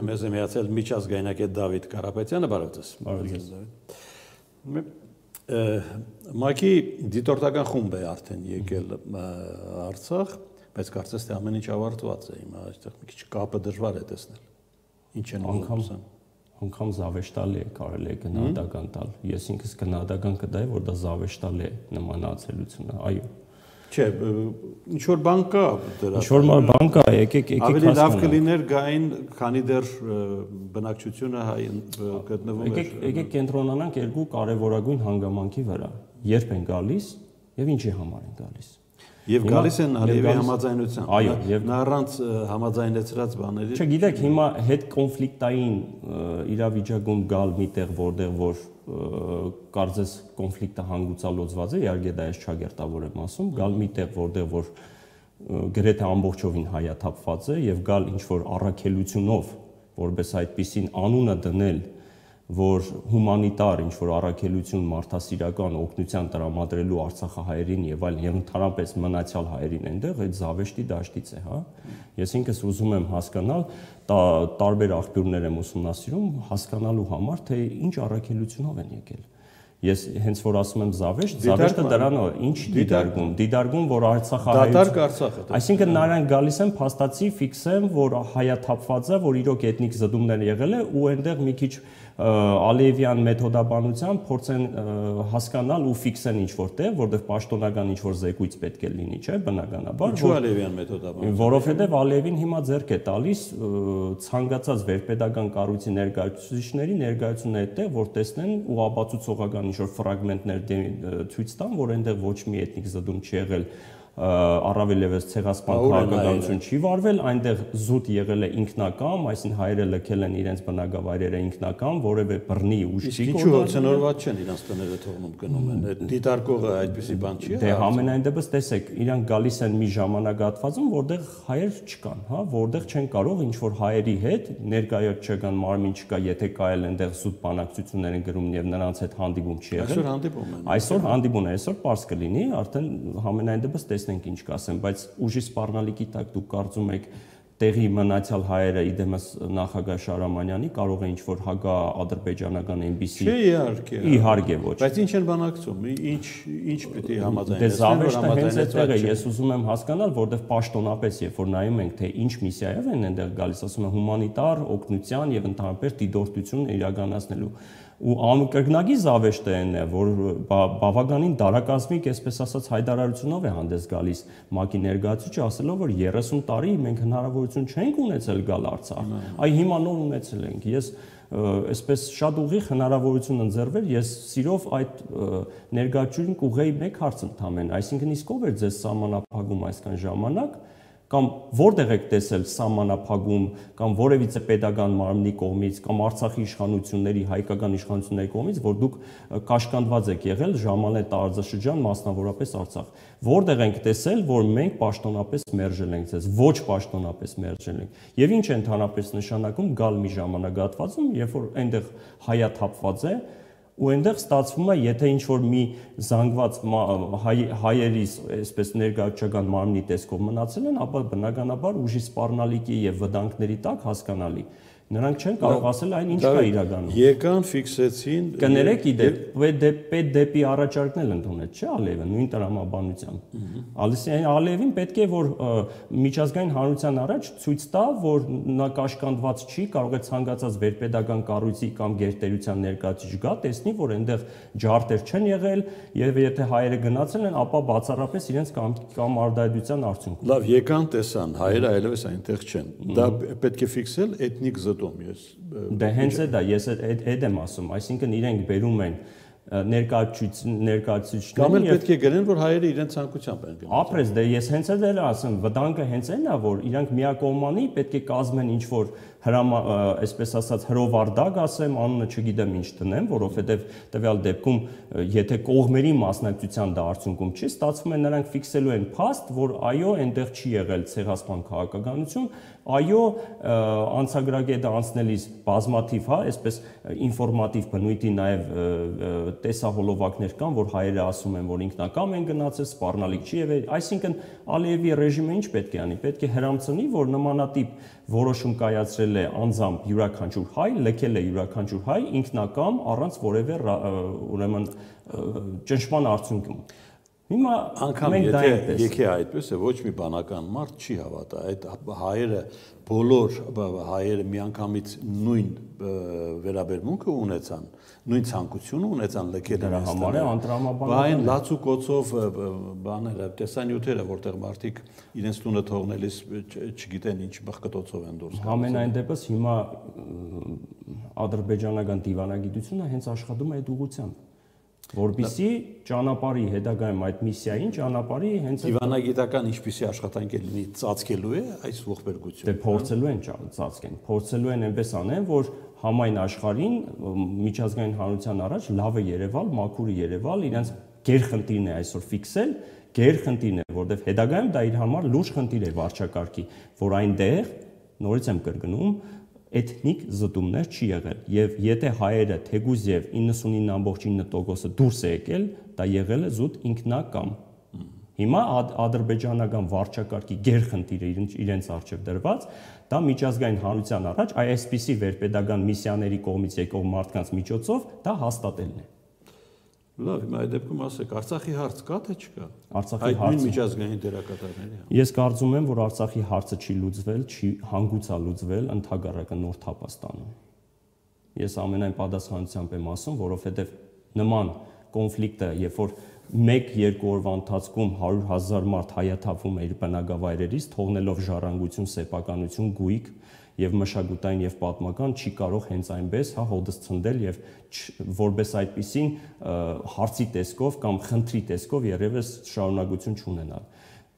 Մեզ է միացել միջազգայնագետ Դավիթ Կարապետյանը, բարև ձեզ։ ՄԱԿ-ի դիտորդական խումբ է արդեն եկել Արցախ, բայց կարծես թե ամեն ինչ ավարտված է, հիմա այստեղ մի քիչ կապը դժվար է տեսնել։ Ինչ են անգամ անգամ զավեշտալի է կարելի է գնահատական տալ։ Ես ինքս գնահատական կտայի, որ դա զավեշտալի է նման ացելությունը, այո։ Չէ, ինչ որ բան կա դրա։ Ինչ որ բան կա, եկեք Ավելի լավ կլիներ գային, քանի դեռ բնակչությունը գտնվում է։ Եկեք կենտրոնանանք երկու կարևորագույն հանգամանքի վրա։ Երբ են գալիս եւ ինչի համար են գալիս։ Եվ գալիս են Ալիևի համաձայնությամբ։ Այո, եւ նա առանց համաձայնեցրած բաների։ Չէ, գիտեք, հիմա հետ կոնֆլիկտային իրավիճակում գալ միտեղ, որտեղ որ կարծես կոնֆլիկտը հանգուցալուծված է, իհարկե դա ես չագերտավոր եմ ասում, գալ միտեղ, որտեղ որ գրեթե ամբողջովին հայաթափված է եւ գալ ինչ որ առաքելությունով, որպես այդպիսին անունը դնել, որ հումանիտար ինչ որ առաքելություն մարդասիրական օգնության տրամադրելու Արցախահայերին եւ այլն եւ ընդհանրապես մնացյալ հայերին այնտեղ այդ զավեշտի դաշտից է, հա։ Ես ինքս ուզում եմ հասկանալ, տարբեր աղբյուրներ եմ ուսումնասիրում, հասկանալու համար, թե ինչ առաքելությունով են եկել։ Ես հենց որ ասում եմ զավեշտը դրանով է, ինչ դիտարկում, որ Արցախահայություն, այսինքն նրանք գալիս են փաստացի ֆիքսեն, որ հայաթափված է, որ իրոք էթնիկ զդումներ եղել է ու այնտեղ մի քիչ Ալիևյան մեթոդաբանությամբ փորձեն հասկանալ ու ֆիքսեն ինչ-որ տեղ, որտեղ պաշտոնական ինչ-որ զեկույց պետք է լինի, չէ՞, բնականաբար։ Ինչու Ալիևյան մեթոդաբանությամբ։ Որովհետև Ալիևին հիմա ձեռք է տալիս ցանկացած վերպետական կառույցի ներկայացուցիչների ներկայացումն է այդտեղ, որ տեսնեն ու ապացուցողական ինչ-որ ֆրագմենտներ ցույց տան, որ այնտեղ ոչ մի էթնիկ զդում չի եղել, առավել ևս ցեղասպան քաղաքականություն չի վարվել, այնտեղ զուտ եղել է ինքնակամ, այսինքն հայերը լքել են իրենց բնակավայրերը ինքնակամ, որևէ բռնի ուժ չի կորցնել։ Ինչու ցնորված չեն իրանց տները թողնում գնում են։ Այդ դիտարկողը այդպեսի բան չի։ Դե համենայն դեպս տեսեք, իրանք գալիս են մի ժամանակահատվածում, որտեղ հայեր չկան, հա, որտեղ չեն կարող ինչ որ հայերի հետ ներկայացական մարմին չկա, եթե կա էլ այնտեղ զուտ բանակցություններ են գրում եւ նրանց հետ հանդիպում չի եղել։ Այսօր հանդիպում են։ Այսօր հանդիպում է, այսօր պարզ կլինի, արդեն համենայն դեպս տեսնենք ինչ կասեմ, բայց ուժի սպառնալիքի տակ դուք կարծում եք տեղի մնացյալ հայերը իդեմս նախագահ Շարամանյանի կարող է ինչ-որ հագա-ադրբեջանական այնպիսի։ Չէ, իհարկե ոչ։ Բայց ինչ են բանակցում, ինչ պիտի համաձայնեցնեն, Դե զավեշտը հենց այդտեղ է, ես ուզում եմ հասկանալ, որտեղ պաշտոնապես, երբ որ նայում ենք, թե ինչ միսիայով են այնտեղ գալիս, ասում են հումանիտար օգնության եւ ընդհանրապես դիտորդություն իրականացնելու։ Ու անկրկնագի զավեշտը այն է, որ բավականին դարակազմիկ, այսպես ասած, հայտարարությունով է հանդես գալիս ՄԱԿ-ի ներկայացուցիչը, ասելով, որ 30 տարի մենք հնարավորություն չենք ունեցել գալ Արցախ, այ հիմա նոր ունեցել ենք։ Ես այսպես շատ ուղիղ հնարավորություն ընձեռվել, ես սիրով այդ ներկայացուցին կուղեի մեկ հարց ընդամեն, այսինքն իսկ ով էր ձեզ սահմանափակում այսքան ժամանակ, կամ որտեղ եք տեսել սահմանափակում կամ որևիցե պետական մարմնի կողմից կամ Արցախի իշխանությունների, հայկական իշխանությունների կողմից, որ դուք կաշկանդված եք եղել ժամանել տարածաշրջան, մասնավորապես Արցախ։ Որտեղ ենք տեսել, որ մենք պաշտոնապես մերժել ենք ձեզ, ոչ պաշտոնապես մերժել ենք։ Եվ ինչ է ընդհանրապես նշանակում գալ մի ժամանակահատվածում, երբ որ այնտեղ հայաթափված է, ու այնտեղ ստացվում է, եթե ինչ-որ մի զանգված հայերի, այսպես ներկայացուցչական մարմնի տեսքով մնացել են, ապա բնականաբար ուժի սպառնալիքի եւ վտանգների տակ հասկանալի։ Նրանք չեն կարող ասել այն ինչ կա իրականում։ Եկան, ֆիքսեցին։ Կներեք պետ դեպի առաջարկն էլ ընդունեց, չէ՞ Ալիևը, նույն տրամաբանությամբ։ Ալիևին պետք է որ միջազգային հանրության առաջ ցույց տա, որ նա կաշկանդված չի, կարող է ցանկացած վերպետական կառույցի կամ գերտերության ներկայացուցիչ գա, տեսնի, որ այնտեղ ջարդեր չեն եղել, եւ եթե հայերը գնացել են, ապա բացառապես իրենց կամ արդայդության արդյունքում։ Լավ, եկան, տեսան, հայերը այլևս այնտեղ չեն։ Դա պետք է ֆիքսել էթնիկ Դե հենց է դա, ես այդ եմ ասում, այսինքն իրենք բերում են ներկայացուցիչներին կամ էլ պետք է գրեն, որ հայերը իրենց ցանկությամբ են գնում։ Ապրես, դե ես հենց էլ ասում, վտանգը հենց այն է, որ իրանք միակողմանի պետք է կազմեն ինչ-որ այսպես ասած հրովարդակ ասեմ, անունը չգիտեմ ինչ տնեմ, որովհետև տվյալ դեպքում եթե կողմերի մասնակցության դա արդյունքում չի, ստացվում է նրանք ֆիքսելու են փաստ, որ այո, այնտեղ չի եղել ցեղասպան քաղաքականություն, այո, անցագրագետը անցնելիս բազմաթիվ, հա, այսպես ինֆորմատիվ բնույթի նաև տեսահոլովակներ կան, որ հայերը ասում են, որ ինքնակամ են գնացել, սպառնալիք չի եղել, այսինքն Ալիևի ռեժիմը ինչ պետք է անի, պետք է հրամցնի, որ նմանատիպ որոշում կայացրել է անձամբ յուրաքանչյուր հայ, լքել է յուրաքանչյուր հայ ինքնակամ առանց որևէ ուրեմն ճնշման արդյունքում։ Հիմա անգամ եթե այդպես է, ոչ մի բանական մարդ չի հավատա, այդ հայերը բոլոր հայերը միանգամից նույն վերաբերմունքը ունեցան, նույն ցանկությունը ունեցան լքել դրա համար է անտրամաբանական։ Բայց լացու կոցով բաները, տեսանյութերը, որտեղ մարդիկ իրենց տունը թողնելիս չգիտեն ինչ բխկտոցով են դուրս գալիս։ Համենայն դեպս հիմա ադրբեջանական դիվանագիտությունը հենց աշխատում է այդ ուղղությամբ, որպեսզի ճանապարհի հետագայում այդ միսիային ճանապարհի հենց դիվանագիտական ինչպիսի աշխատանք է լինի ծածկելու է այս ողբերգությունը։ Դե փորձելու են ծածկեն, փորձելու են այնպես անեն, որ համայն աշխարհին միջազգային հանրության առաջ լավը Երևալ, մաքուրը Երևալ, իրենց գերխնդիրն է այսօր ֆիքսել, գերխնդիրն է, որովհետև հետագայում դա իր համար լուրջ խնդիր է վարչակարգի, որ այնտեղ նորից եմ կրկնում էթնիկ զտումներ չի եղել եւ եթե հայերը թեգուզ եւ 99.9%-ը դուրս է եկել, դա եղել է զուտ ինքնակամ։ Հիմա ադրբեջանական վարչակարգի գերխնդիրը իրենց առջև դրված, դա միջազգային հանրության առաջ այսպիսի վերպետական միսիաների կողմից եկող մարդկանց միջոցով դա հաստատելն է։ Լավ, հիմա այդ դեպքում ասեք, Արցախի հարց կա թե չկա։ Արցախի հարցը միջազգային դերակատարների։ Ես կարծում եմ, որ Արցախի հարցը չի լուծվել, չի հանգուցա լուծվել, ընդհակառակը նոր թափ է ստանում։ Ես ամենայն պատասխանությամբ եմ ասում, որովհետև նման կոնֆլիկտը, երբ որ 1-2 օրվա ընթացքում 100,000 մարդ հայաթափվում է իր բնակավայրերից, թողնելով ժառանգություն, սեփականություն, գույք եւ մշակութային եւ պատմական չի կարող հենց այնպես հոդս ցնդել եւ որպես այդպեսին հարցի տեսքով կամ խնդրի տեսքով երևս շարունակություն չունենալ։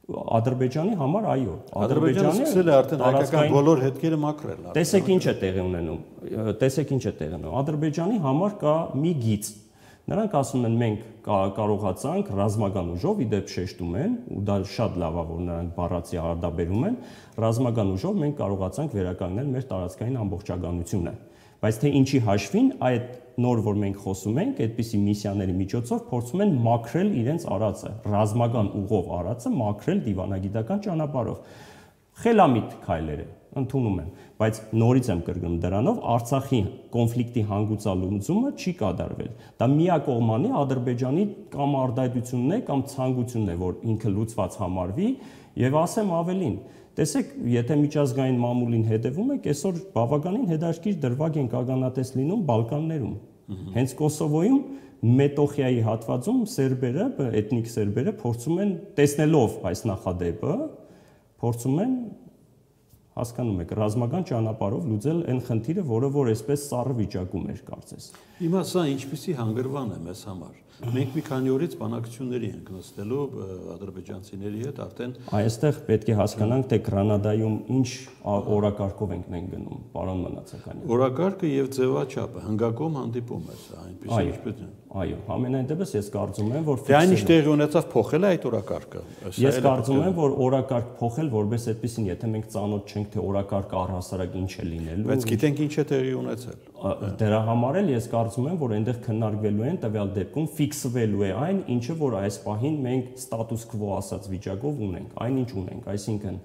Ադրբեջանի համար այո, Ադրբեջանը սկսել է արդեն հայկական բոլոր հետքերը մաքրել։ Տեսեք ինչ է տեղի ունենում։ Ադրբեջանի համար կա մի գիծ։ Նրանք ասում են մենք կարողացանք ռազմական ուժով, իդեպ շեշտում են, ու դա շատ լավ է, որ նրանք բառացի արդաբերում են, ռազմական ուժով մենք կարողացանք վերականգնել մեր տարածքային ամբողջականությունը։ Բայց թե ինչի հաշվին այդ նոր որ մենք խոսում ենք, այդպիսի միսիաների միջոցով փորձում են մաքրել իրենց արածը, ռազմական ուղով արածը մաքրել դիվանագիտական ճանապարհով։ Խելամիտ քայլեր է, ընդունում եմ, բայց նորից եմ կրկնում դրանով Արցախի կոնֆլիկտի հանգուցալուծումը չի կատարվել։ Դա միակողմանի Ադրբեջանի կամ արդայությունն է կամ ցանկությունն է, որ ինքը լուծված համարվի, եւ ասեմ ավելին, տեսեք, եթե միջազգային մամուլին հետևում եք, այսօր բավականին հետաքրքիր դրվագ են ականատես լինում Բալկաններում։ Հենց Կոսովոյում Մետոխիայի հատվածում սերբերը, էթնիկ սերբերը փորձում են տեսնելով այս նախադեպը, փորձում են հասկանում եք, ռազմական ճանապարհով լուծել այն խնդիրը, որը որ այսպես սառը վիճակում էր կարծես։ Հիմա սա ինչպիսի հանգրվան է մեզ համար։ Մենք մի քանի օրից բանակցությունների ենք նստելու ադրբեջանցիների հետ արդեն այստեղ պետք է հասկանանք, թե Գրանադայում ինչ օրակարգով ենք մենք գնում, պարոն Մնացականյան։ Օրակարգը եւ ձևաչափը հնգակոմ հանդիպում է սա, այնպես ինչպես է։ Այո, համենայն դեպս ես կարծում եմ, որ այն ինչ տեղի ունեցավ փոխել է այդ օրակարգը։ Ես կարծում եմ, որ օրակարգ փոխել որպես այդպեսին, եթե մենք ծանոթ չենք, թե օրակարգը առհասարակ ինչ է լինելու։ Բայց գիտենք ինչ է տեղի ունեցել։ Դրա համար էլ ես կարծում եմ, որ այնտեղ քննարկվելու են տվյալ դեպքում ֆիքսվելու է այն, ինչը որ այս պահին մենք ստատուս քվո ասած վիճակով ունենք, այն ինչ ունենք, այսինքն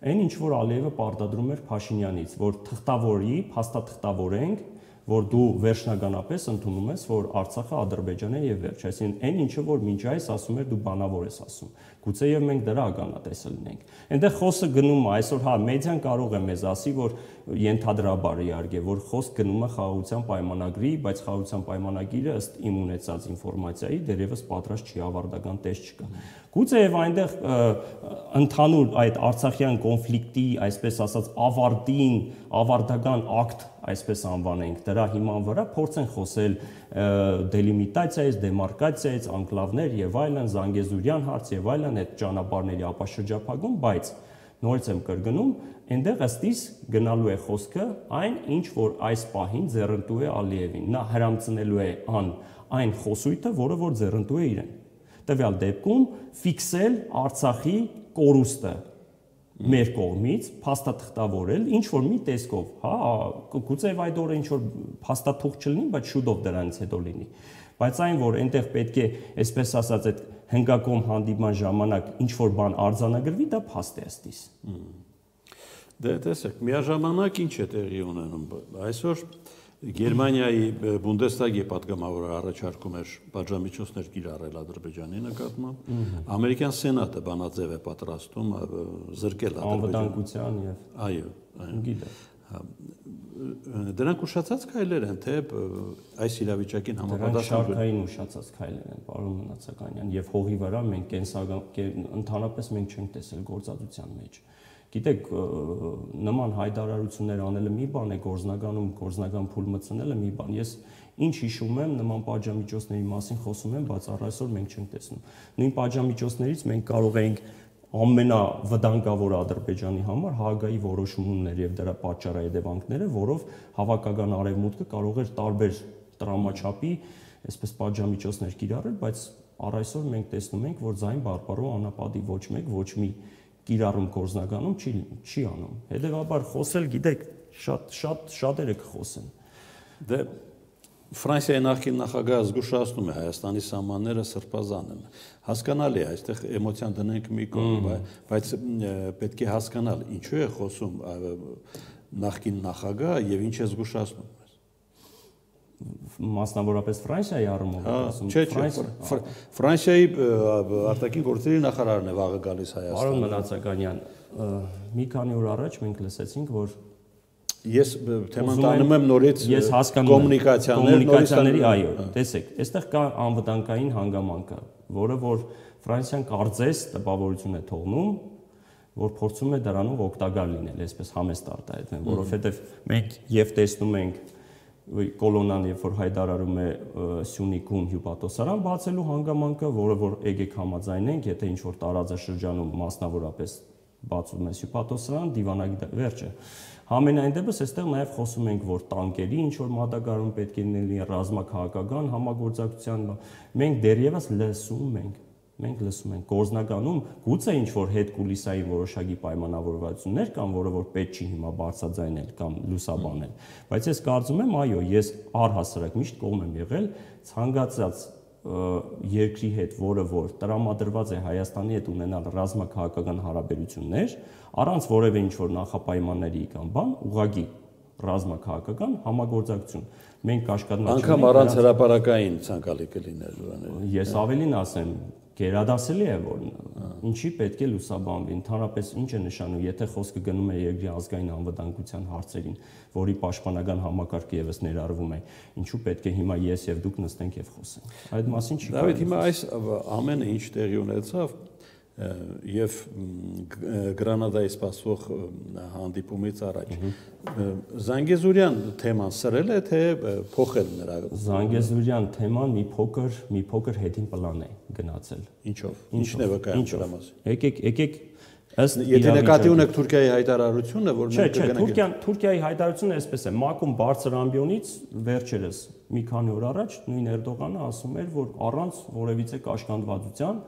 այն ինչ որ Ալիևը պարտադրում էր Փաշինյանից, որ թղթավորի, փաստաթղթավորենք, որ դու վերջնականապես ընդունում ես, որ Արցախը Ադրբեջան է եւ վերջ, այսինքն այն ինչը որ մինչ այս ասում էր դու բանավոր ես ասում։ Գուցե եւ մենք դրա ականատեսը լինենք։ Այնտեղ խոսքը գնում է, այսօր հա մեդիան կարող է մեզ ասի, որ ենթադրաբար իհարկե, որ խոսք գնում է խաղաղության պայմանագրի, բայց խաղաղության պայմանագիրը ըստ իմ ունեցած ինֆորմացիայի դեռևս պատրաստ չի, ավարտական տեստ չկա։ Գուցե եւ այնտեղ ընդհանուր այդ արցախյան կոնֆլիկտի, այսպես ասած, ավարտական ակտ, այսպես անվանենք, դրա հիման վրա փորձեն խոսել դելիմիտացիայից, դեմարկացիայից, անկլավներ եւ այլն, Զանգեզուրյան հարց եւ այլն, այդ ճանապարհների ապաշրջափակում, բայց նորից եմ կրկնում, այնտեղ ըստիս գնալու է խոսքը այն, ինչ որ այս պահին ձեռնտու է Ալիևին։ Նա հրամցնելու է այն խոսույթը, որը որ ձեռնտու է իրեն։ Տվյալ դեպքում ֆիքսել Արցախի կորուստը մեր կողմից, փաստաթղթավորել ինչ որ մի տեսքով, հա, գուցե այդ օրը ինչ որ փաստաթուղթ չլինի, բայց շուտով դրանից հետո լինի։ Բայց այն, որ այնտեղ պետք է, այսպես ասած, այդ հնգակոմ հանդիպման ժամանակ ինչ որ բան արձանագրվի, դա փաստ է ըստիս։ Դե տեսեք, միաժամանակ ինչ է տեղի ունենում։ Այսօր Գերմանիայի Բունդեսթագի պատգամավորը առաջարկում էր պատժամիջոցներ կիրառել Ադրբեջանի նկատմամբ, ամերիկյան սենատը բանաձև է պատրաստում զրկել անվտանգության եւ այո, գիտեմ։ Դրանք ուշացած քայլեր են, թե այս իրավիճակին համապատասխան շարքային ուշացած քայլեր են, պարոն Մնացականյան, եւ հողի վրա մենք ընդհանրապես մենք չենք տեսել գործածության մեջ։ Գիտեք, նման հայտարարություններ անելը մի բան է, գործնական փուլ մտցնելը մի բան։ Ես ինչ հիշում եմ, նման պատժամիջոցների մասին խոսում եմ, բայց առ այսօր մենք չենք տեսնում։ Նույն պատժամիջոցներից մենք կարող ենք ամենավտանգավոր Ադրբեջանի համար Հաագայի որոշումներ եւ դրա պատճառահետևանքները, որով հավաքական արևմուտքը կարող էր տարբեր տրամաչափի, այսպես պատժամիջոցներ կիրառել, բայց առ այսօր մենք տեսնում ենք, որ ձայն բարբարո անապատի ոչ մեկ ոչ մի կիրառում գործնականում չի անում։ Հետևաբար խոսել, գիտեք, շատերը կխոսեն։ Դե Ֆրանսիայի նախկին նախագահը զգուշացնում է Հայաստանի սահմանները սրբազան են։ Հասկանալի է, այստեղ էմոցիան դնենք մի կողմ, բայց պետք է հասկանալ ինչու է խոսում նախկին նախագահը եւ ինչ է զգուշացնում։ Մասնավորապես Ֆրանսիայի առումով ասում։ Ֆրանսիայի արտաքին գործերի նախարարն է վաղը գալիս Հայաստան։ Պարոն Մնացականյան, մի քանի օր առաջ մենք լսեցինք, որ ես թեման տանում եմ նորից կոմունիկացիաների, այո, տեսեք, այստեղ կա անվտանգային հանգամանքը, որը որ Ֆրանսիան կարծես տպավորություն է թողնում, որ փորձում է դրանով օգտակար լինել, այսպես համեստ արտահայտվեն, որովհետև մենք եւ տեսնում ենք կոլոնան, երբ որ հայտարարում է Սյունիքում հյուպատոսարան բացելու հանգամանքը, որը որ եկեք համաձայնենք, եթե ինչ որ տարածաշրջանում մասնավորապես բացում է հյուպատոսարան, դիվանագիտը վերջը։ Համենայն դեպս այստեղ նաև խոսում ենք, որ տանկերի ինչ որ մատակարարում պետք է լինի, ռազմաքաղաքական համագործակցության, մենք դեռևս լսում ենք, գործնականում գուցե ինչ որ հետ կուլիսային որոշակի պայմանավորվածություններ կան, որը որ պետք չի հիմա բարձրաձայնել կամ լուսաբանել, բայց ես կարծում եմ, այո, ես առհասարակ միշտ կողմ եմ եղել ցանկացած երկրի հետ, որը որ տրամադրված է Հայաստանի հետ ունենալ ռազմաքաղաքական հարաբերություններ, առանց որևէ ինչ որ նախապայմանների կամ բան, ուղղակի ռազմաքաղաքական համագործակցություն։ Մենք կաշկադնաչ անգամ առանց հրապարակային ցանկալի կլիներ։ Ես ավելին ասեմ, գերադասելի է, որ ինչի պետք է լուսաբանվի, ընդհանրապես ինչ է նշանում, եթե խոսքը գնում է երկրի ազգային անվտանգության հարցերին, որի պաշտպանական համակարգը եւս ներառվում է, ինչու պետք է հիմա ես եւ դուք նստենք եւ խոսենք։ Այդ մասին չի կարող։ Դավիթ, հիմա այս ամենը ինչ տեղի ունեցավ եւ Գրանադայի սպասվող հանդիպումից առաջ Զանգեզուրյան թեման սրել է թե փոխել նրա։ Զանգեզուրյան թեման մի փոքր հետին պլան է գնացել։ Ինչով։ Ինչն է վկայում դրա մասին։ Եկեք Եթե նկատի ունեք Թուրքիայի հայտարարությունը, որ մենք կգնանք։ Չէ, Թուրքիայի հայտարարությունը այսպես է, Մակում բարձր ամբիոնից վերջերս մի քանի օր առաջ նույն Էրդողանը ասում էր, որ առանց որևիցե կաշկանդվածության,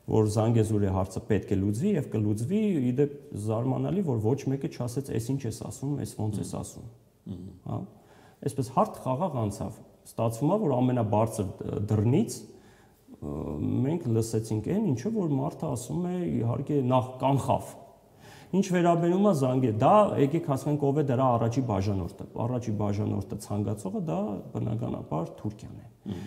որ Զանգեզուրի հարցը պետք է լուծվի եւ կլուծվի, իդեպ զարմանալի, որ ոչ մեկը չասեց, «Էս ինչ ես ասում, էս ոնց ես ասում»։ Հա։ Այսպես հարթ խաղաղ անցավ։ Ստացվում է, որ ամենաբարձր դռնից մենք լսեցինք այն, ինչը որ մարդը ասում է, իհարկե նախ կանխավ։ Ինչ վերաբերում է Զանգեզուրի, դա եկեք հասկանանք ով է դրա առաջի բաժանորդը։ Առաջի բաժանորդը ցանկացողը դա բնականաբար Թուրքիան է։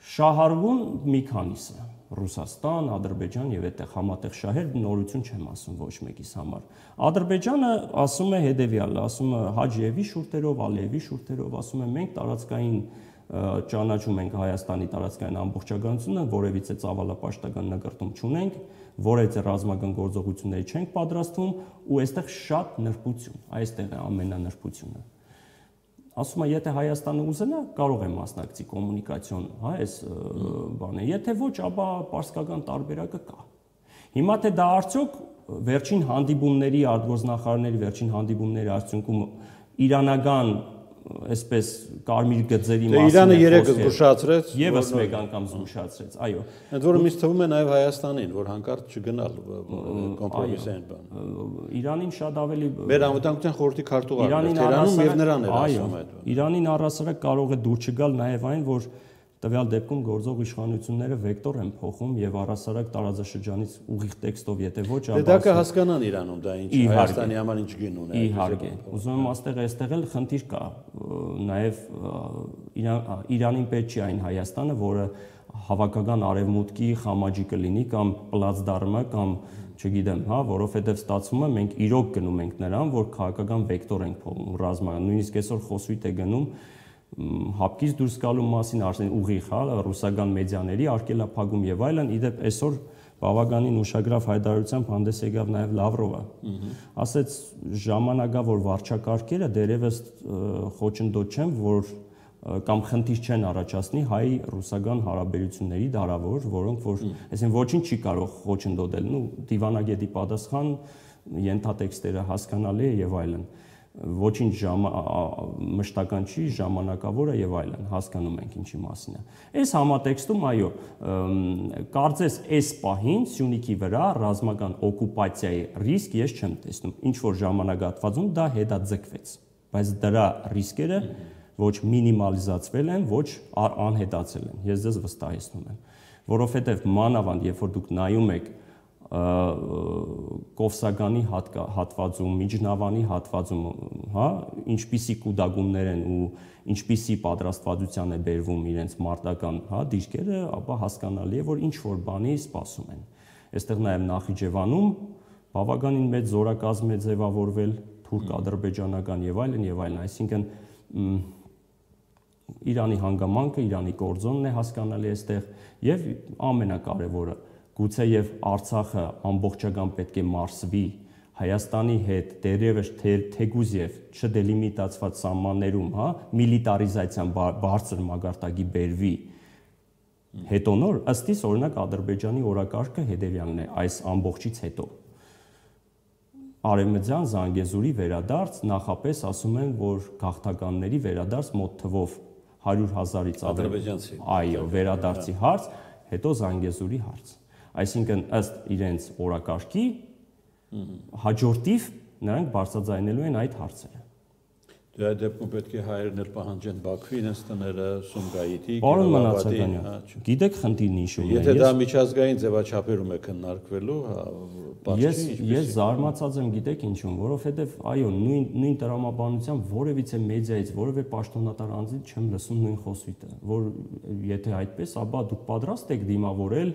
Շահարվում մի քանիսը Ռուսաստան, Ադրբեջան եւ այդտեղ համատեղ շահեր, նորություն չեմ ասում ոչ մեկիս համար։ Ադրբեջանը ասում է հետեւյալը, ասում է Հաջիևի շուրթերով, Ալիևի շուրթերով, ասում է մենք տարածքային ճանաչում ենք Հայաստանի տարածքային ամբողջականությունը, որևիցե ծավալապաշտական նկարտում չունենք, որևիցե ռազմական գործողությունների չենք պատրաստվում ու այստեղ շատ նրբություն, այստեղ է ամենանրբությունը։ Ասում է, եթե Հայաստանը ուզենա, կարող է մասնակցի կոմունիկացիոն, հա, այս բանը։ Եթե ոչ, ապա պարսկական տարբերակը կա։ Հիմա թե դա արդյոք վերջին հանդիպումների, արտգործնախարարների վերջին հանդիպումների արդյունքում իրանական այսպես կարմիր գծերի մասին Իրանը երեք զգուշացրեց, եւս մեկ անգամ զգուշացրեց, այո։ Ընդ որում ինձ թվում է նաեւ Հայաստանին, որ հանկարծ չգնալ կոմպրոմիսային բան։ Իրանին շատ ավելի մեր անվտանգության խորհրդի քարտուղարն է Թերանում եւ նրան էր ասում այդ։ Իրանին առասարակ կարող է դուր չգալ նաեւ այն, որ տվյալ դեպքում գործող իշխանությունները վեկտոր են փոխում եւ առհասարակ տարածաշրջանից ուղիղ տեքստով եթե ոչ դա կհասկանան Իրանում դա ինչ Հայաստանի համար ինչ գին ունի իհարկե ուզում եմ այստեղ էլ խնդիր կա նաեւ Իրանին պետք չի այն Հայաստանը որը հավաքական արևմուտքի խամաճի կլինի կամ պլացդարմը կամ չգիտեմ հա որովհետեւ ստացվում է մենք իրոք գնում ենք նրան որ քաղաքական վեկտոր ենք փոխում ռազմական նույնիսկ այսօր խոսույթ է գնում հապկից դուրս գալու մասին արդեն ուղիղ հա ռուսական մեդիաների արկելափակում եւ այլն իդեպ այսօր բավականին ուշագրավ հայտարարությամբ հանդես եկավ նաեւ Լավրովը ասեց ժամանակավոր վարչակարգերը դերևս խոչընդոտ չեն որ կամ խնդիր չեն առաջացնի հայ-ռուսական հարաբերությունների դարավոր որոնք որ այսինքն ոչինչ չի կարող խոչընդոտել նու դիվանագետի պատասխան ենթատեքստերը հասկանալի է եւ այլն ոչինչ մշտական չի, ժամանակավոր է եւ այլն, հասկանում ենք ինչի մասին է։ Այս համատեքստում այո, կարծես այս պահին Սյունիքի վրա ռազմական օկուպացիայի ռիսկ ես չեմ տեսնում։ Ինչ որ ժամանակահատվածում դա հետաձգվեց, բայց դրա ռիսկերը ոչ մինիմալիզացվել են, ոչ անհետացել են։ Ես ձեզ վստահեցնում եմ, որովհետեւ մանավանդ երբ որ դուք նայում եք Կովսականի հատվածում, Միջնավանի հատվածում, հա, ինչպիսի կուտակումներ են ու ինչպիսի պատրաստվածության է բերվում իրենց մարտական, հա, դիրքերը, ապա հասկանալի է, որ ինչ որ բանի սպասում են։ Այստեղ նաև Նախիջևանում բավականին մեծ զորակազմ է ձևավորվել, թուրք-ադրբեջանական եւ այլն, այսինքն Իրանի հանգամանքը, Իրանի կորձոնն է հասկանալի այստեղ եւ ամենակարևորը գուցե եւ Արցախը ամբողջական պետք է մարսվի Հայաստանի հետ դերևս թեգուզ եւ չդելիմիտացված սահմաններում, հա, միլիտարիզացիան բարձր մագարտակի բերվի հետո նոր ըստ իս օրինակ Ադրբեջանի օրակարգը հետեւյալն է այս ամբողջից հետո Արևմտյան Զանգեզուրի վերադարձ նախապես ասում են որ գաղթականների վերադարձ մոտ թվով 100,000-ից ադրբեջանցի այո վերադարձի հարց հետո Զանգեզուրի հարց Այսինքն ըստ իրենց օրակարգի հաջորդիվ նրանք բարձրաձայնելու են այդ հարցերը։ Դե այդ դեպքում պետք է հայերն էլ պահանջեն Բաքվի իրենց տները, Սումգայիթի, Պարոն Մնացականյան, գիտեք խնդիրն ինչու՞ն է։ Եթե դա միջազգային ձևաչափերում է քննարկվելու, ես զարմացած եմ, գիտեք ինչու՞ն, որովհետև այո, նույն տրամաբանությամբ որևիցե մեդիայից, որևէ պաշտոնատար անձից չեմ լսում նույն խոսույթը, որ եթե այդպես, ապա դուք պատրաստ եք դիմավորել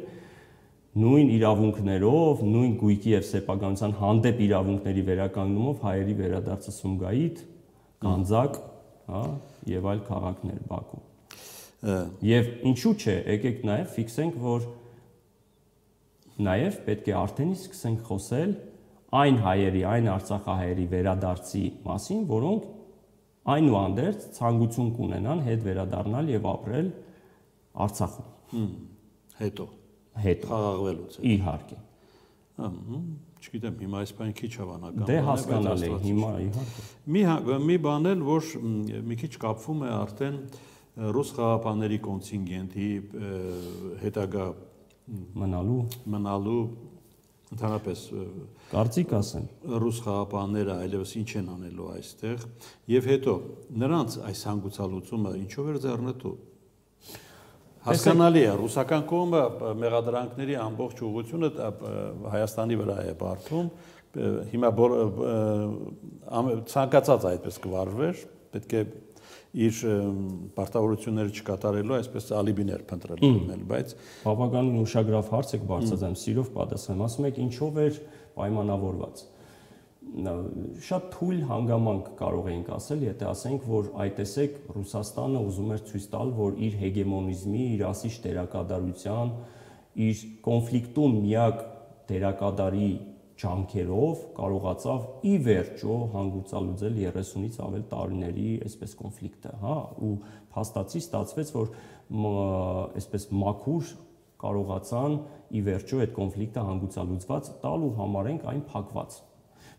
նույն իրավունքներով, նույն գույքի եւ սեփականության հանդեպ իրավունքների վերականգնումով հայերի վերադարձը Սումգայիթ, Գանձակ, հա, եւ այլ քաղաքներ Բաքու։ Եվ ինչու՞ չէ, եկեք նաեւ ֆիքսենք, որ նաեւ պետք է արդեն սկսենք խոսել այն հայերի, այն արցախահայերի վերադարձի մասին, որոնք այնուհանդերձ ցանկություն կունենան հետ վերադառնալ եւ ապրել Արցախում։ Հետո խաղաղվելուց իհարկե չգիտեմ հիմա այս բանը քիչ հավանական դե հասկանալի է հիմա իհարկե մի բան էլ որ մի քիչ կապվում է արդեն ռուս խաղապանների կոնտինգենտի հետագա մնալու ընդհանրապես կարծիք ասեմ ռուս խաղապանները այլևս ինչ են անելու այստեղ եւ հետո նրանց այս հանգուցալուծումը ինչով էր ձեռնտու Հասկանալի է, ռուսական կողմը մեղադրանքների ամբողջ ուղղությունը Հայաստանի վրա է բարդում, հիմա ցանկացած այդպես կվարվեր, պետք է իր պարտավորությունները չկատարելու այսպես ալիբիներ փնտրել, բայց բավականին ուշագրավ հարց եք բարձրացնում, սիրով պատասխանեմ, ասում եք ինչով էր պայմանավորված շատ թույլ հանգամանք կարող էինք ասել, եթե ասենք, որ այ տեսեք Ռուսաստանը ուզում էր ցույց տալ, որ իր հեգեմոնիզմի, իր ասիչ դերակատարության, իր կոնֆլիկտում միակ դերակատարի ջանքերով կարողացավ ի վերջո հանգուցալուծել 30-ից ավել տարիների այսպես կոնֆլիկտը, հա, ու փաստացի ստացվեց, որ այսպես մաքուր կարողացան ի վերջո այդ կոնֆլիկտը հանգուցալուծված տալ ու համարենք այն փակված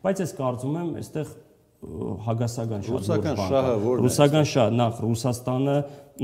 Բայց ես կարծում եմ, այստեղ հագասական շատ ռուսական շահը որն է։ Ռուսական շահը նախ Ռուսաստանը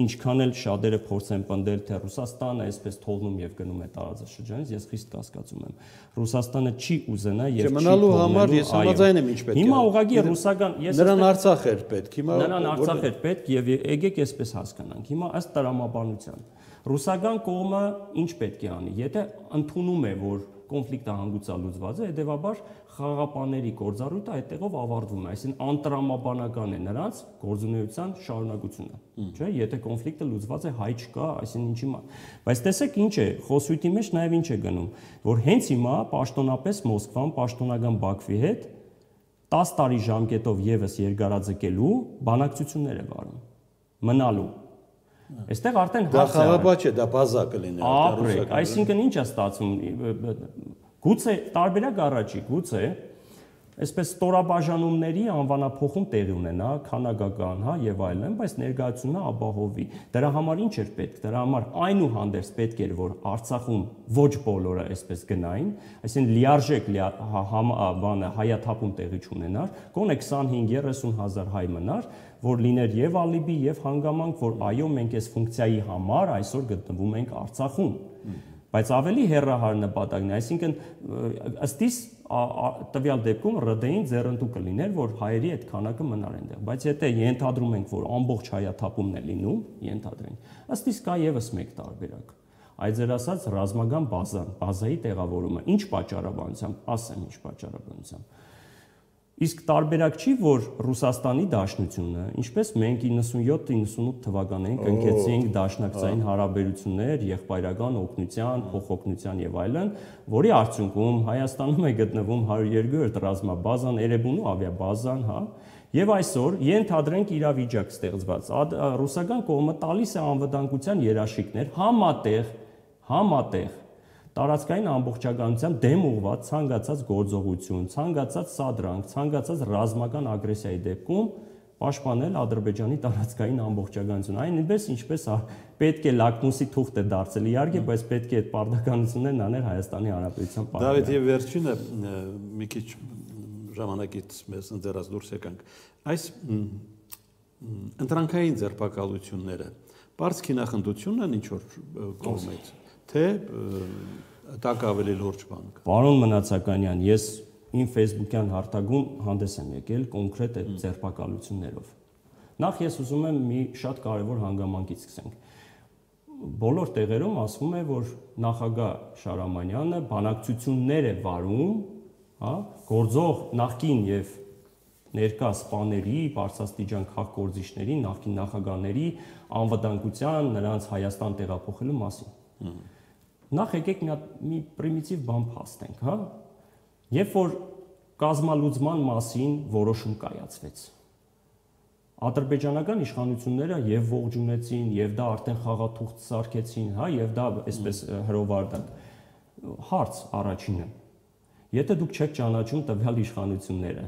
ինչքան էլ շատերը փորձեն պնդել, թե Ռուսաստանը այսպես թողնում եւ գնում է տարածաշրջանից, ես խիստ կասկածում եմ։ Ռուսաստանը չի ուզենա եւ չի մնալու համար ես համաձայն եմ ինչ պետք է։ Հիմա ուղղակի ռուսական նրան Արցախ էր պետք, հիմա նրան Արցախ էր պետք եւ եկեք այսպես հասկանանք։ Հիմա ըստ տրամաբանության ռուսական կողմը ինչ պետք է անի, եթե ընդունում է, որ կոնֆլիկտը հանգուցալուծված է, հետեւաբար խաղաղապանների գործառույթը այդտեղով ավարտվում է, այսինքն անտրամաբանական է նրանց գործունեության շարունակությունը, չէ՞, եթե կոնֆլիկտը լուծված է, հայ չկա, այսինքն ինչի՞։ Բայց տեսեք ինչ է, խոսույթի մեջ նաև ինչ է գնում, որ հենց հիմա պաշտոնապես Մոսկվան պաշտոնական Բաքվի հետ 10 տարի ժամկետով եւս երկարաձգելու բանակցություններ է վարում, մնալու։ Այստեղ արդեն դա խաղապա չէ, դա բազա կլիներ արդեն, այսինքն ինչ է ստացվում, գուցե տարբերակ առաջի, գուցե այսպես ստորաբաժանումների անվանափոխում տեղի ունենա, քանակական, հա, եւ այլն, բայց ներկայացումը ապահովի։ Դրա համար ինչ էր պետք։ Դրա համար այնուհանդերձ պետք էր, որ Արցախում ոչ բոլորը այսպես գնային, այսինքն լիարժեք հայաթափում տեղի չունենար, գոնե 25-30 հազար հայ մնար, որ լիներ եւ ալիբի եւ հանգամանք, որ այո, մենք այս ֆունկցիայի համար այսօր գտնվում ենք Արցախում։ Բայց ավելի հեռահար նպատակն է, այսինքն ըստ իս տվյալ դեպքում ՌԴ-ին ձեռնտու կլիներ, որ հայերի այդ քանակը մնար այնտեղ, բայց եթե ենթադրում ենք, որ ամբողջ հայաթափումն է լինում, ենթադրենք, ըստ իս կա եւս մեկ տարբերակ։ Այդ ձեր ասած ռազմական բազայի տեղավորումը, ինչ պատճառաբանությամբ, ասեմ ինչ պատճառաբանությամբ։ Իսկ տարբերակ չի, որ Ռուսաստանի Դաշնությունը, ինչպես մենք 97-98 թվականներին կնքեցինք դաշնակցային հարաբերություններ, եղբայրական օգնության, փոխօգնության եւ այլն, որի արդյունքում Հայաստանում է գտնվում 102-րդ ռազմաբազան, Էրեբունու ավիաբազան, հա, եւ այսօր ենթադրենք իրավիճակ ստեղծված։ Ռուսական կողմը տալիս է անվտանգության երաշխիքներ համատեղ տարածքային ամբողջականության դեմ ուղղված ցանկացած գործողություն, ցանկացած սադրանք, ցանկացած ռազմական ագրեսիայի դեպքում պաշտպանել Ադրբեջանի տարածքային ամբողջականությունը։ Այնպես ինչպես պետք է լակմուսի թուղթ է դարձել իհարկե, բայց պետք է այդ պարտականություններն անել Հայաստանի Հանրապետության պատվին։ Դավիթ, եւ վերջինը մի քիչ ժամանակից մեզ ընձեռած դուրս եկանք։ Այս ընտրանքային ձերբակալությունները բարձ քինախնդությունն են ինչ որ կողմից, թե տակ ավելի լուրջ բան կա։ Պարոն Մնացականյան, ես իմ Facebook-յան հարթակում հանդես եմ եկել կոնկրետ այդ ձերբակալություններով։ Նախ ես ուզում եմ մի շատ կարևոր հանգամանքից սկսենք։ Բոլոր տեղերում ասվում է, որ նախագահ Շարամանյանը բանակցություններ է վարում, հա, գործող նախկին եւ ներկա սպաների, բարձրաստիճան քաղաքգործիչների, նախկին նախագահների անվտանգության, նրանց Հայաստան տեղափոխելու մասին։ Նախ եկեք մի պրիմիտիվ բան փաստենք, հա։ Երբ որ կազմալուծման մասին որոշում կայացվեց, ադրբեջանական իշխանությունները եւ ողջունեցին, եւ դա արդեն խաղաթուղթ սարքեցին, հա, եւ դա այսպես հրովարտակ։ Հարց առաջինը. եթե դուք չեք ճանաչում տվյալ իշխանությունները,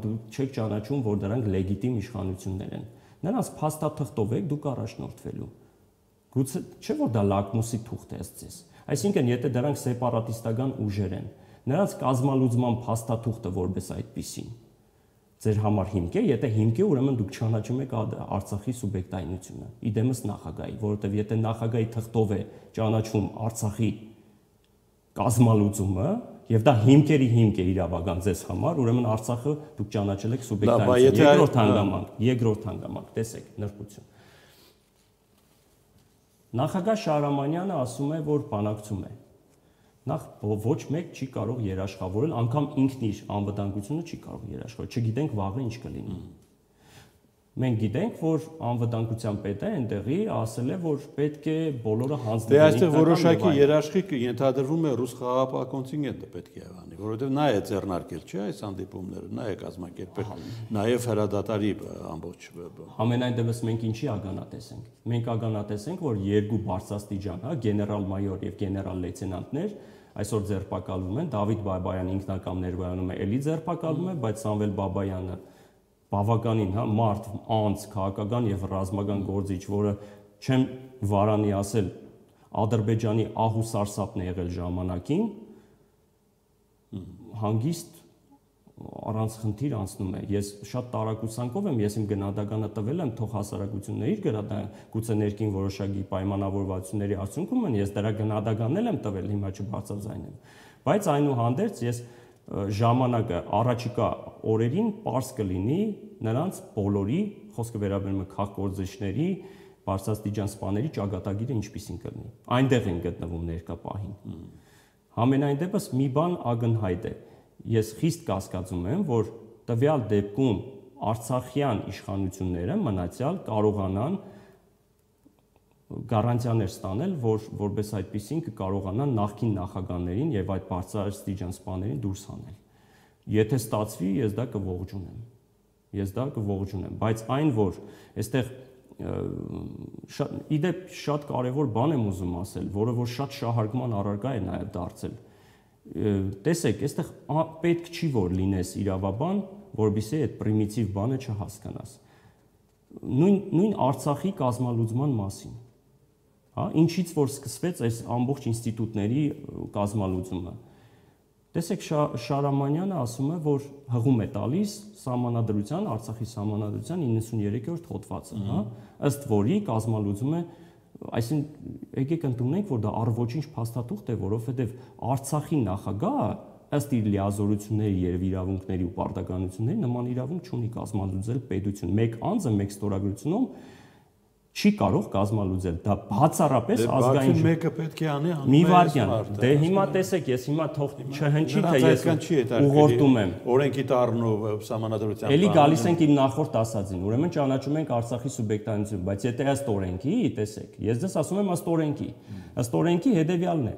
դուք չեք ճանաչում, որ դրանք լեգիտիմ իշխանություններ են, նրանց փաստաթղթով եք դուք առաջնորդվելու։ Գուցե չէ՞ որ դա լակմուսի թուղթ է ըստ ձեզ։ Այսինքն, եթե դրանք սեպարատիստական ուժեր են, նրանց կազմալուծման փաստաթուղթը որպես այդպիսին ձեր համար հիմք է, եթե հիմք է, ուրեմն դուք չճանաչում եք Արցախի սուբյեկտայնությունը, իդեմս նախագահի, որովհետև եթե նախագահի թղթով է ճանաչվում Արցախի կազմալուծումը, եւ դա հիմքերի հիմք է իրավական ձեզ համար, ուրեմն Արցախը դուք ճանաչել եք սուբյեկտայնություն։ Երկրորդ հանգամանք, տեսեք, նրբություն։ Նախագահ Շարամանյանը ասում է, որ բանակցում է։ Նախ ոչ մեկ չի կարող երաշխավորել, անգամ ինքն իր անվտանգությունը չի կարող երաշխավորել, չգիտենք վաղը ինչ կլինի։ Մենք գիտենք, որ անվտանգության պետը այնտեղի ասել է, որ պետք է բոլորը հանձնվեն։ Դե այստեղ որոշակի երաշխիք ենթադրվում է ռուս խաղաղապահ կոնտինգենտը պետք է անի, որովհետև նա է ձեռնարկել, չէ՞, այս հանդիպումները, նա է կազմակերպել, նաև հրադադարի ամբողջ։ Համենայն դեպս մենք ինչի ագանատես ենք։ Մենք ագանատես ենք, որ երկու բարձրաստիճան, հա, գեներալ-մայոր եւ գեներալ-լեյտենանտներ այսօր ձերբակալվում են, Դավիթ Բաբայանը ինքնակամ ներկայանում է, էլի ձերբակալվում է, բայց Սամվել Բաբայանը բավականին, հա, մարդ, անձ, քաղաքական եւ ռազմական գործիչ, որը չեմ վարանի ասել, Ադրբեջանի ահ ու սարսափն է եղել ժամանակին, հանգիստ առանց խնդիր անցնում է։ Ես շատ տարակուսանքով եմ, ես իմ գնահատականը տվել եմ, թող հասարակությունները իր գուցե ներքին որոշակի պայմանավորվածությունների արդյունքում են, ես դրա գնահատականն եմ տվել, հիմա չբարձրաձայնեմ։ Բայց այնուհանդերձ ես ժամանակը առաջիկա օրերին պարզ կլինի նրանց բոլորի, խոսքը վերաբերում է քաղաքգործիչների, բարձրաստիճան սպաների ճակատագիրը ինչպիսին կլինի։ Այնտեղ են գտնվում ներկա պահին։ Համենայն դեպս մի բան ակնհայտ է։ Ես խիստ կասկածում եմ, որ տվյալ դեպքում արցախյան իշխանությունները մնացյալ կարողանան գարանտիաներ ստանել, որպես այդպեսին կկարողանան նախկին նախագահներին եւ այդ բարձրաստիճան սպաներին դուրս հանել։ Եթե ստացվի, ես դա կողջունեմ, բայց այն որ այստեղ իդեպ շատ կարևոր բան եմ ուզում ասել, որը որ շատ շահարկման առարկա է նաև դարձել։ Տեսեք, այստեղ պետք չի որ լինես իրավաբան, որովհետեւ այդ պրիմիտիվ բանը չհասկանաս։ Նույն Արցախի կազմալուծման մասին, հա, ինչից որ սկսվեց այս ամբողջ ինստիտուտների կազմալուծումը։ Տեսեք, Շարամանյանը ասում է, որ հղում է տալիս սահմանադրության, Արցախի սահմանադրության 93-րդ հոդվածը, հա, ըստ որի կազմալուծում է, այսինքն եկեք ընդունենք, որ դա առ-ոչինչ փաստաթուղթ է, որովհետև Արցախի նախագահը ըստ իր լիազորությունների եւ իրավունքների ու պարտականությունների նման իրավունք չունի կազմալուծել պետություն։ Մեկ անձը մեկ ստորագրությունում չի կարող կազմալուծել, դա բացառապես ազգային մեկը պետք է անի մի վարքյան։ Դե հիմա տեսեք, ես հիմա թող չհնչի, թե ես ուղղորդում եմ օրենքի տառն ու սահմանադրության։ Էլի գալիս ենք իմ նախորդ ասածին, ուրեմն ճանաչում ենք Արցախի սուբյեկտանություն, բայց եթե ըստ օրենքի, տեսեք, ես դες ասում եմ ըստ օրենքի հետևյալն է։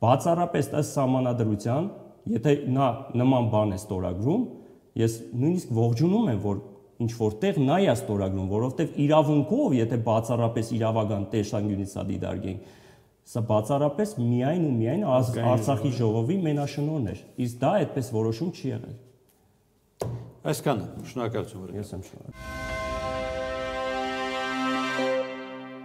Բացառապես ըստ սահմանադրության, եթե նա նման բան է ստորագրում, ես նույնիսկ ողջունում եմ, որ ինչ որտեղ նա է ստորագրում, որովհետև իրավունքով, եթե բացառապես իրավական տեսանկյունից սա դիտարկենք, սա բացառապես միայն ու միայն Արցախի ժողովի մենաշնորհն էր, իսկ դա այդպես որոշում չի եղել։ Այսքանը, շնորհակալություն։ Ես եմ շնորհակալ։